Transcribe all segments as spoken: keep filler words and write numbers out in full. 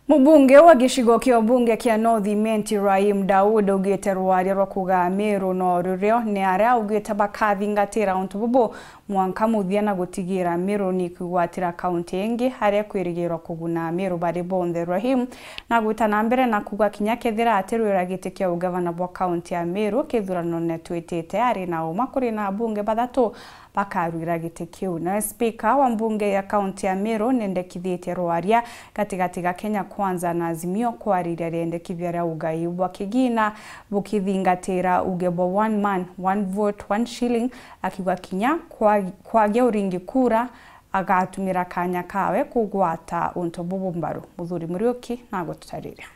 Mubunge wa gicigo kia ubunge kia North Imenti, Rahim Daud, augite rwaria rwa kuuga Amiru no rurio ni aria augite bakathingatira untu bubu mwanka muthia na gutigira Amiru ni kwigwatira kaunti ingi aria kwirigirwa kuguna Amiru bari bonthe. Rahim na gwita na mbere na kuuga kinya kethira atirwira giti kia ugavana bwa kaunti ya Amiru kithuranone twitite, ari na uma kuri na abunge bathatu bakarwira giti kiu. Nawe spika wa mbunge ya kaunti ya Meru nendekithitie rwaria gatigati ga Kenya Kwanza na Azimio kwariria riendekithia ria ugai bwa kigina bukithingatira uge bwa one man, one vote, one shilling, akiuga kinya kwa-, kwagia uringi kura agatumira kanya kawe kugwata untu bubu mbaru. Muthuri Muriuki na agututariria.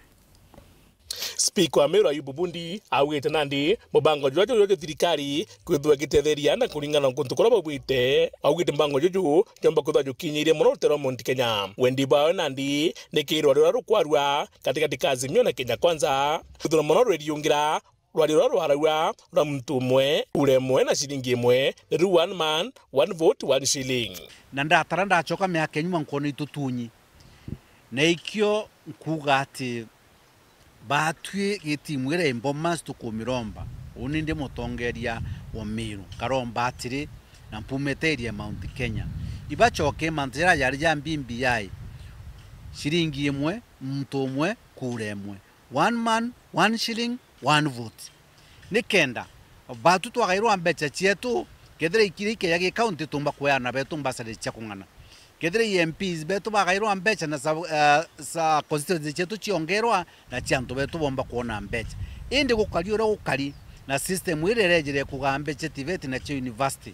Spika wa Meru Ayubu Bundi augite nandi mubango juria jurio jwa thirikari kwithirwa igitetheria na kuringana na kuntu kuria baugite. Augite mubango juju jomba kwithirwa jukinyiirie mono rutere rwa Mount Kenya. Wendi bwawe nandi ni kirwa ruria rukwarua gatigati ka Azimio na Kenya Kwanza kwithirwa mono rweriungira rwaria ruria rwaragua rwa muntu umwe, kura imwe na ciringi imwe, ni ru one man, one vote, one shilling. Na ndatara ndacoka miaka ya nyuma nkona itutunyi. Na ikio nkuuga ati, baatui gitimu iria i Bomas tukumiromba, uni ndi mutongeria wa Meru, nkaromba atiri, na mpumite area ya Mount Kenya, ibacoke mantu jaria jari ja B B I, ciringi imwe, muntu umwe, kura imwe, one man, one shilling, one vote. Nikenda baatu twagairwa mbeca cietu, kethira ikiria ikeja gi county, tumba kueana betu mbasari cia kung'ana. Kethira i M Ps betu bagairwa mbeca na sa, eh, sa constituency cietu ciongerwa na cia antu betu bomba kwona mbeca. Indi gukari uria gukari na system iria irejire kugaa mbeca TVET na cia university,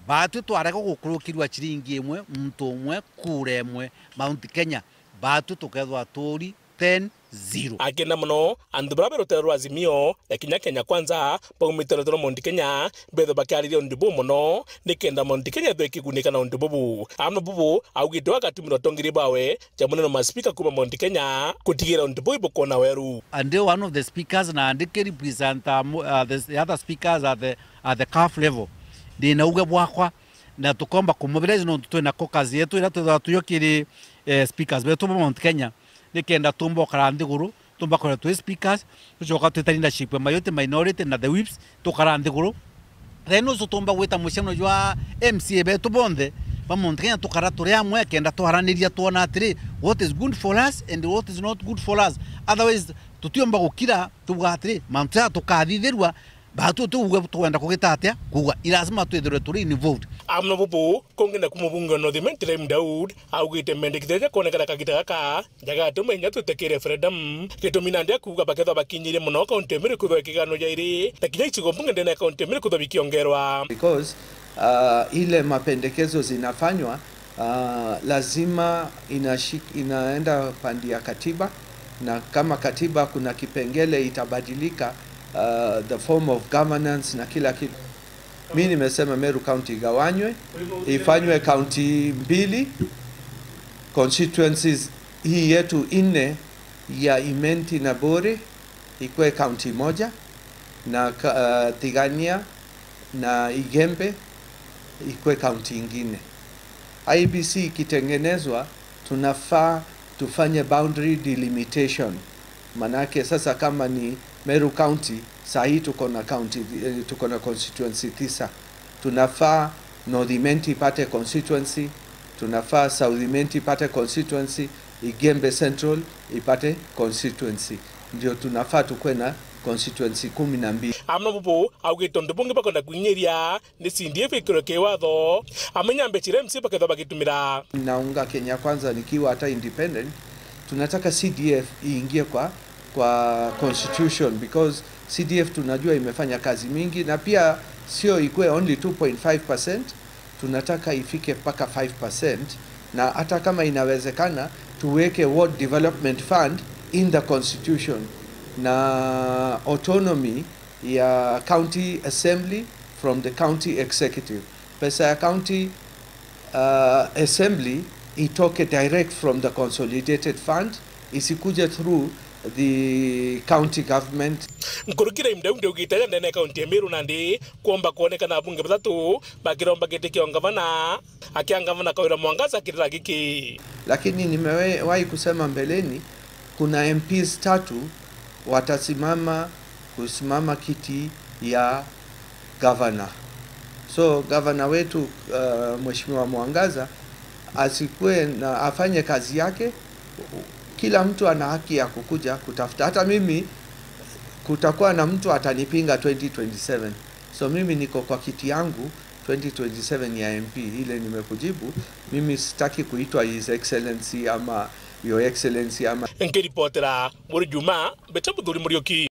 baatu twarega gukurukirwa ciringi imwe, muntu umwe, kura imwe, Mount Kenya, baatu tukethwa tuuri ten zero. Akenda mono antu baria be rutere rwa Azimio na kinya Kenya Kwanza baumite rutere rwa Mount Kenya bethwe bakiariria untu buu mono, nikenda Mount Kenya ethwe ikigunika na untu bubu. Amwe bubu augite we agatumirwa utongeria bwawe ja munene wa maspika kuuma Mount Kenya gutigira untu buu ibukona weru. And one of the speakers na andiki represent, uh, mo-, uh, the, the other speakers at the, at the CAF level. Ndina uge bwakwa, na tukomba kumobilize nontu twina caucus yetu iria twithagwa tuyo kiri, eh, speakers betu ba Mount Kenya, nikenda tumba ukara nthiguru, tumba kwira twi speakers, tucoka twita leadership ya majority, minority na the whips, tukara nthiguru. Then ucio tumba gwita mucemano jwa M C A betu bonthe ba Mount Kenya, tukara turi amwe, kenda twaraniria twona atiri, what is good for us and what is not good for us. Otherwise, tutiumba gukira, tuuga atiri, mantu jaa tukathithirua, baatu tuuge twenda kugita atia, kuuga i lazima twithirwe turi involved. Amwe bubu, kungi naku mubunge wa North Imenti Rahim Daud augite mendekithia ja kwonekana kagita gaka jagatuma inya twite ki referendum. Gitumi nandi akuuga bakethwa bakinyirie mono kaunti ya Meru kwithwa ikigano jairi, na kinya icigo mbunge ndene ya kaunti ya Meru kwithwa bikiongerwa. Because, uh, ile mapendekezo zinafanywa, uh, lazima inashi-, inaenda pande ya katiba, na kama katiba kuna kipengele itabadilika, uh, the form of governance na kila kitu. Mi nimesema Meru County igawanywe, ifanywe county mbili, constituencies hii yetu nne ya Imenti na Bore ikwe county moja, na ka-, uh, Tigania na Igembe ikwe county ingine. I E B C ikitengenezwa, tunafaa tufanye boundary delimitation. Manake sasa kama ni Meru County, saa hii tuko na county, eh, tuko na constituency tisa. Tunafaa North Imenti ipate constituency, tunafaa South Imenti ipate constituency, Igembe Central ipate constituency. Ndio tunafaa tukwe na constituency kumi na mbili. Amwe bubu augite untu bungi bakwenda kwinyiria ni C D F ikirwe kiwatho. Amenya mbeca iria M C A bakethwa bagitumira. Naunga Kenya Kwanza nikiwa hata independent, tunataka C D F iingie kwa, kwa constitution, because C D F tunajua imefanya kazi mingi, na pia sio ikue only two point five percent, tunataka ifike mpaka five percent, na hata kama inawezekana tuweke ward development fund in the constitution na autonomy ya county assembly from the county executive. Pesa ya county, uh, assembly itoke direct from the consolidated fund, isikuje through the county government. Nkuruki Rahim Daud augite aja ndene ya kaunti ya Meru nandi kwomba kwonekana abunge bathatu bakiromba giti kia ungavana, akia ngavana Kawira Mwangaza kirira giki. Lakini nimewahi kusema mbeleni, Kuna M Ps tatu watasimama kusimama kiti ya gavana. So gavana wetu, uh, Mheshimiwa Mwangaza asikue na afanye kazi yake. Kila mtu ana haki ya kukuja kutafuta. Hata mimi kutakuwa na mtu atanipinga twenty twenty-seven. So mimi niko kwa kiti yangu twenty twenty-seven ya M P, ile nimekujibu. Mimi sitaki kuitwa His Excellency ama Your Excellency ama Nkiripotera Muri Juma, mbeta Muthuri Muriuki.